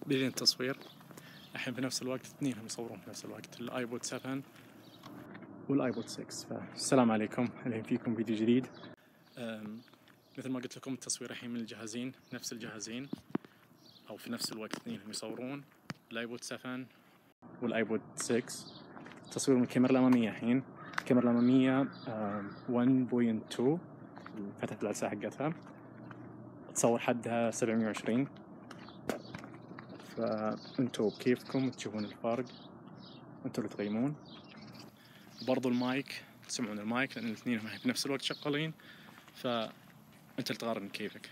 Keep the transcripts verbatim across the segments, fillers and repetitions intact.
بدين التصوير الحين في نفس الوقت، اثنينهم يصورون في نفس الوقت، الايبود سبعة والايبود ستة. فالسلام عليكم، الحين فيكم فيديو جديد. مثل ما قلت لكم التصوير الحين من الجهازين، نفس الجهازين او في نفس الوقت اثنينهم يصورون، الايبود سبعة والايبود ستة. تصوير من الكاميرا الاماميه. الحين الكاميرا الاماميه واحد نقطة اثنين، فتحت العدسه حقتها، تصور حدها سبعمية وعشرين. فانتوا بكيفكم تشوفون الفرق، انتوا اللي تقيمون. وبرضو المايك، تسمعون المايك لان الاثنين هم في نفس الوقت شغالين، فانت اللي تقارن كيفك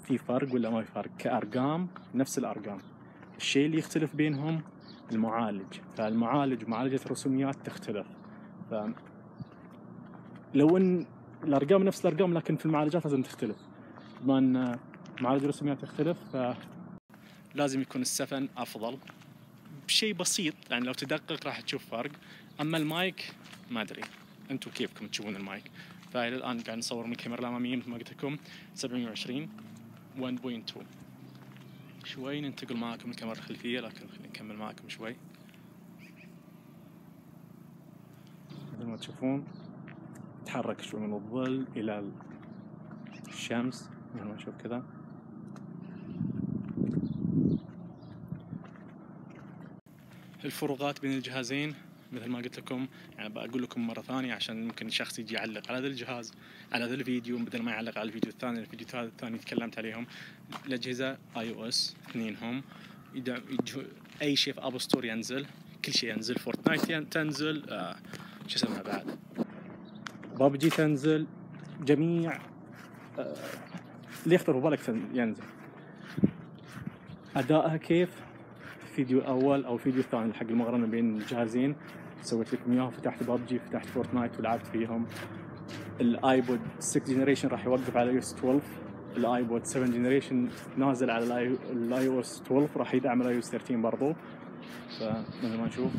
في فرق ولا ما في فرق. كأرقام نفس الأرقام، الشيء اللي يختلف بينهم المعالج. فالمعالج ومعالجة الرسوميات تختلف. ف لو ان الأرقام نفس الأرقام لكن في المعالجات لازم تختلف. بما ان معالج الرسوميات تختلف فلازم يكون السفن أفضل بشيء بسيط، يعني لو تدقق راح تشوف فرق. أما المايك ما أدري، أنتوا كيفكم تشوفون المايك. فإلى الآن قاعد نصور من الكاميرا الأمامية مثل ما قلت لكم سبعمية وعشرين واحد نقطة اثنين. شوي ننتقل معاكم الكاميرا الخلفية، لكن خلينا نكمل معاكم شوي. مثل ما تشوفون تحرك شوي من الظل إلى الشمس، مثل ما نشوف كذا. الفروقات بين الجهازين مثل ما قلت لكم، يعني بقول لكم مرة ثانية عشان ممكن شخص يجي يعلق على هذا الجهاز على هذا الفيديو بدل ما يعلق على الفيديو الثاني. الفيديو الثاني تكلمت عليهم. الأجهزة اي او اس اثنينهم يدعم أي شيء في اب ستور ينزل، كل شيء ينزل. فورتنايت تنزل، آه شو اسمها بعد، بابجي تنزل، جميع آه اللي يخطر في بالك ينزل. أدائها كيف؟ فيديو أول أو فيديو ثاني حق المقارنة بين الجهازين سويت لكم إياه. فتحت بابجي، فتحت فورتنايت ولعبت فيهم. الآيبود ستة جنريشن راح يوقف على اي او اس اثناشر، الآيبود سبعة جنريشن نازل على الاي او اس اثناشر، راح يدعم الاي او اس ثلاثة عشر برضو. فمثل ما نشوف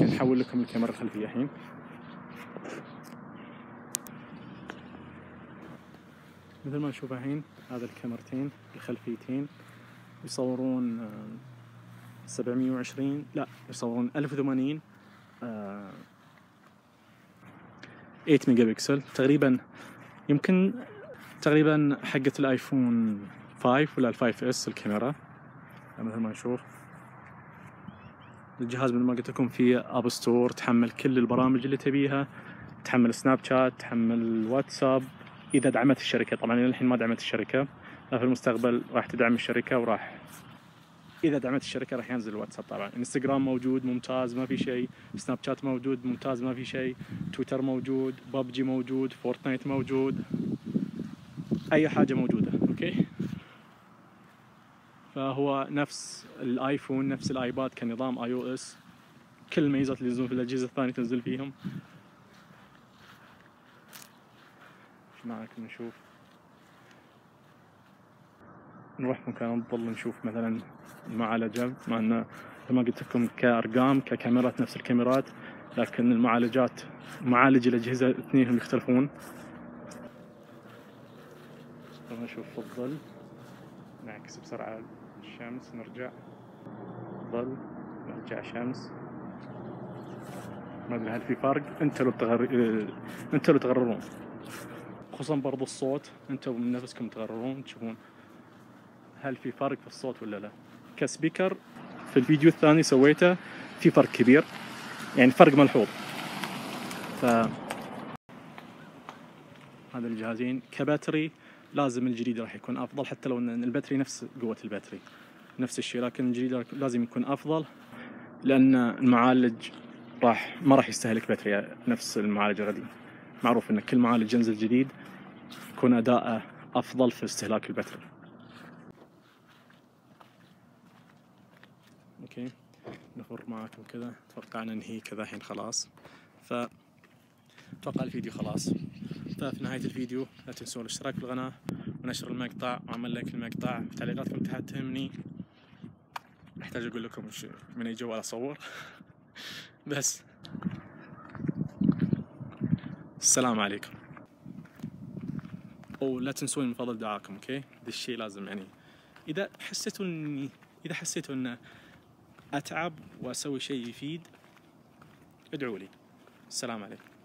نحول لكم الكاميرا الخلفية الحين. مثل ما نشوف الحين هذا الكاميرتين الخلفيتين يصورون سبعمية وعشرين، لا يصورون ألف وثمانين آه ثمانية ميجا بكسل تقريبا. يمكن تقريبا حقة الايفون خمسة ولا الخمسة اس الكاميرا. مثل ما نشوف الجهاز مثل ما قلت لكم فيه اب ستور، تحمل كل البرامج اللي تبيها، تحمل سناب شات، تحمل واتساب اذا دعمت الشركة. طبعا الحين ما دعمت الشركة، لا في المستقبل راح تدعم الشركة، وراح اذا دعمت الشركة راح ينزل الواتساب. طبعا انستغرام موجود ممتاز ما في شيء، سناب شات موجود ممتاز ما في شيء، تويتر موجود، بابجي موجود، فورتنايت موجود، اي حاجة موجودة. اوكي، فهو نفس الايفون نفس الايباد كنظام اي او اس، كل الميزات اللي ينزلون في الاجهزة الثانية تنزل فيهم. ايش معكم نشوف، نروح مكان الظل نشوف مثلا المعالجة. مع انه ما قلت لكم كأرقام ككاميرات نفس الكاميرات، لكن المعالجات معالج الأجهزة اثنينهم يختلفون. لما نشوف في الظل نعكس بسرعة الشمس، نرجع ظل نرجع شمس. ما ادري هل في فرق، انتوا لو تغر... انتوا لو تقررون. خصوصا برضو الصوت، انتوا من نفسكم تقررون تشوفون هل في فرق في الصوت ولا لا. كسبيكر في الفيديو الثاني سويته في فرق كبير، يعني فرق ملحوظ. ف هذا الجهازين كباتري لازم الجديد راح يكون افضل، حتى لو ان الباتري نفس قوة الباتري نفس الشيء، لكن الجديد لازم يكون افضل لان المعالج راح ما راح يستهلك باتري نفس المعالج القديم. معروف ان كل معالج ينزل جديد يكون اداءه افضل في استهلاك الباتري. اوكي، نفر معاكم كذا، اتوقع ننهي كذا الحين خلاص. ف اتوقع الفيديو خلاص. ففي نهاية الفيديو لا تنسون الاشتراك في القناة ونشر المقطع وعمل لايك للمقطع. تعليقاتكم تحت تهمني، احتاج اقول لكم من اي جوال اصور. بس السلام عليكم، ولا تنسون من فضل دعاكم. اوكي، هذا الشيء لازم يعني إذا حسيتوا إني إذا حسيتوا إن أتعب وأسوي شيء يفيد ادعوا لي. السلام عليكم.